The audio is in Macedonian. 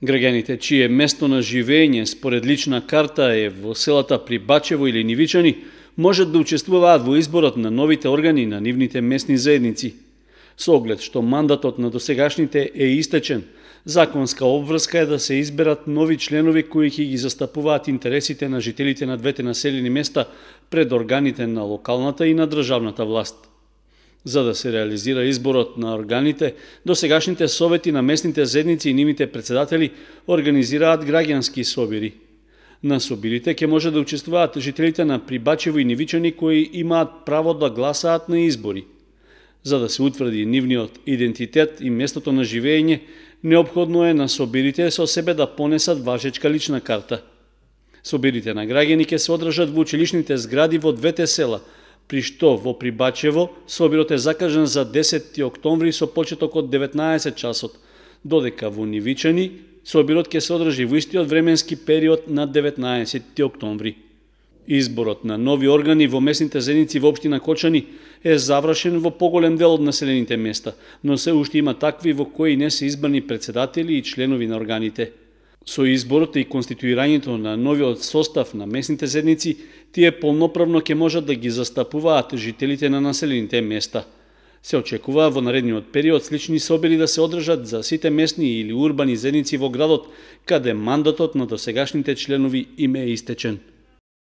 Граѓаните чие место на живење според лична карта е во селата Прибачево или Нивичани, можат да учествуваат во изборот на новите органи на нивните местни заедници. Со оглед што мандатот на досегашните е истечен, законска обврска е да се изберат нови членови кои ќе ги застапуваат интересите на жителите на двете населени места пред органите на локалната и на државната власт. За да се реализира изборот на органите, досегашните совети на местните заедници и нивните председатели организираат граѓански собири. На собирите ќе може да учествуваат жителите на Прибачево и Нивичани кои имаат право да гласаат на избори. За да се утврди нивниот идентитет и местото на живење, неопходно е на собирите со себе да понесат важечка лична карта. Собирите на граѓани ќе се одржат во училишните згради во двете села, при што во Прибачево собирот е закажан за 10 октомври со почеток од 19 часот, додека во Нивичани собирот ќе се одржи во истиот временски период на 19 октомври. Изборот на нови органи во местните заедници во општина Кочани е завршен во поголем дел од населените места, но се уште има такви во кои не се избрани председатели и членови на органите. Со изборот и конституирањето на новиот состав на местните заедници, тие полноправно ќе можат да ги застапуваат жителите на населените места. Се очекува во наредниот период слични собири да се одржат за сите местни или урбани заедници во градот, каде мандатот на досегашните членови им е истечен.